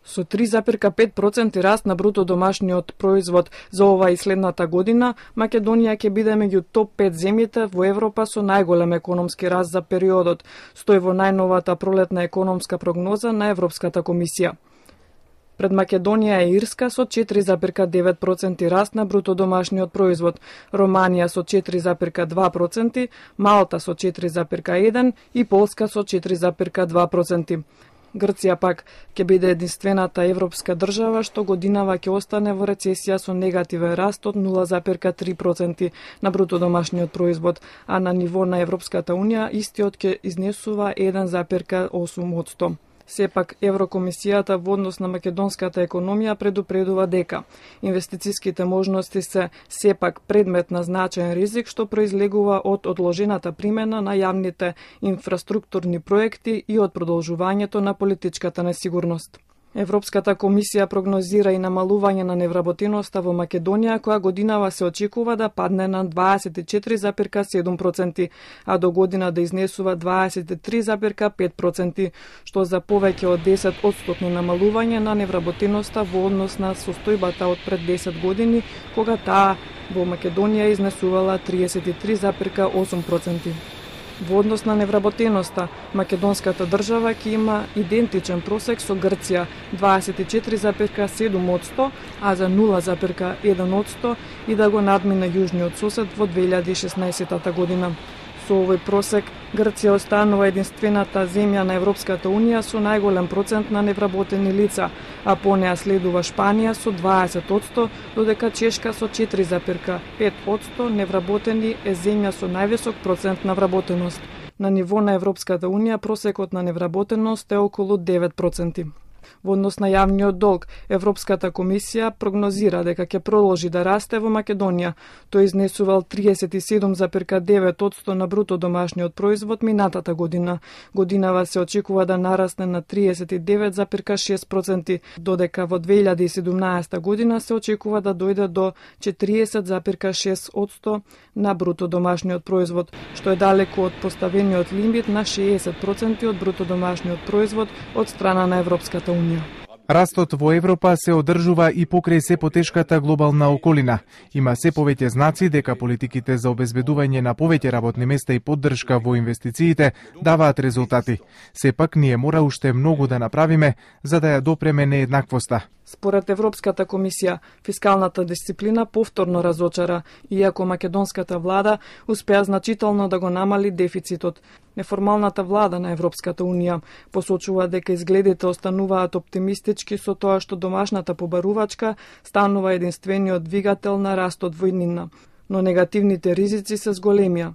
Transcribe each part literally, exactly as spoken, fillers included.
Со три запирка пет проценти раст на бруто домашниот производ за ова и следната година, Македонија ќе биде меѓу топ пет земјите во Европа со најголем економски раст за периодот, стои во најновата пролетна економска прогноза на Европската комисија. Пред Македонија е Ирска со четири запирка девет проценти раст на бруто домашниот производ, Романија со четири запирка два проценти, Малта со четири запирка еден и Полска со четири запирка два проценти. Грција пак ќе биде единствената европска држава што годинава ќе остане во рецесија со негативен раст од нула запирка три проценти на бруто домашниот производ, а на ниво на Европската унија истиот ќе изнесува еден запирка осум одсто. Сепак, Еврокомисијата во однос на македонската економија предупредува дека инвестициските можности се сепак предмет на значаен ризик што произлегува од одложената примена на јавните инфраструктурни проекти и од продолжувањето на политичката несигурност. Европската комисија прогнозира и намалување на невработеноста во Македонија, која годинава се очекува да падне на дваесет и четири запирка седум проценти, а до година да изнесува дваесет и три запирка пет проценти, што за повеќе од десет одстотно намалување на невработеноста во однос на состојбата од пред десет години, кога таа во Македонија изнесувала триесет и три запирка осум проценти. Во однос на невработеноста, македонската држава ќе има идентичен просек со Грција дваесет и четири запирка седум одсто, а за нула запирка еден одсто и да го надмине јужниот сосед во две илјади и шеснаесетта година. Со овој просек, Грција останува единствената земја на Европската унија со најголем процент на невработени лица, а по неа следува Шпанија со дваесет одсто, додека Чешка со четири запирка пет одсто невработени е земја со највисок процент на вработеност. На ниво на Европската унија просекот на невработеност е околу девет проценти. Во однос на јавниот долг, Европската комисија прогнозира дека ќе продолжи да расте во Македонија. Тој изнесувал триесет и седум запирка девет одсто на бруто домашниот производ минатата година. Годинава се очекува да нарасне на триесет и девет запирка шест проценти, додека во две илјади и седумнаесетта година се очекува да дојде до четириесет запирка шест одсто на бруто домашниот производ, што е далеку од поставениот лимит на шеесет проценти од бруто домашниот производ од страна на Европската унија. Растот во Европа се одржува и покрај се потешката глобална околина. Има се повеќе знаци дека политиките за обезбедување на повеќе работни места и поддршка во инвестициите даваат резултати. Сепак ние мора уште многу да направиме за да ја допреме нееднаквоста. Според Европската комисија, фискалната дисциплина повторно разочара, иако македонската влада успеа значително да го намали дефицитот. Неформалната влада на Европската унија посочува дека изгледите остануваат оптимистички со тоа што домашната побарувачка станува единствениот двигател на растот во иднина, но негативните ризици се зголемија.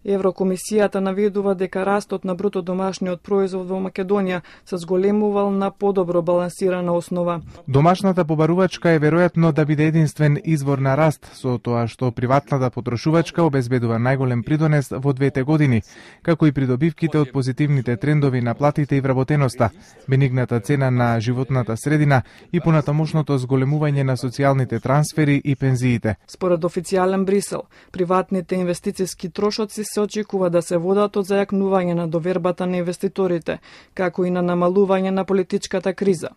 Еврокомисијата наведува дека растот на бруто домашниот производ во Македонија се зголемувал на подобро балансирана основа. Домашната побарувачка е веројатно да биде единствен извор на раст, со тоа што приватната потрошувачка обезбедува најголем придонес во двете години, како и придобивките од позитивните трендови на платите и вработеноста, бенигната цена на животната средина и понатамошното зголемување на социјалните трансфери и пензиите. Според официјален Брисел, приватните инвестициски трошоци се очекува да се водат од зајакнување на довербата на инвеститорите, како и на намалување на политичката криза.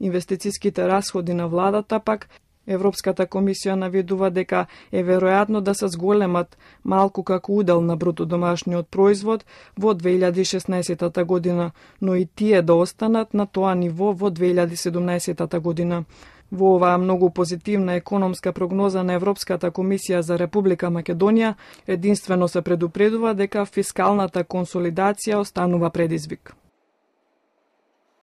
Инвестициските расходи на владата пак, Европската комисија наведува дека е веројатно да се зголемат малку како удел на бруто домашниот производ во две илјади и шеснаесетта година, но и тие да останат на тоа ниво во две илјади и седумнаесетта година. Во оваа многу позитивна економска прогноза на Европската комисија за Република Македонија единствено се предупредува дека фискалната консолидација останува предизвик.